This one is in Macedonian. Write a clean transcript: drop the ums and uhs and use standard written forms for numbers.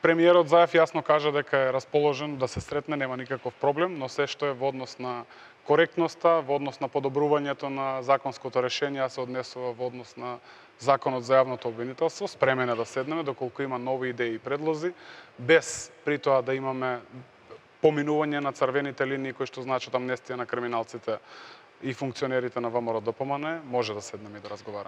Премиерот Заев јасно кажа дека е расположен да се сретне, нема никаков проблем, но се што е во однос на коректноста, во однос на подобрувањето на законското решение, а се однесува во однос на Законот за јавното обвинителство, спремен е да седнеме доколку има нови идеи и предлози, без при тоа да имаме поминување на црвените линии кои што значат амнестија на криминалците и функционерите на ВМРО ДПМН, може да седнеме и да разговараме.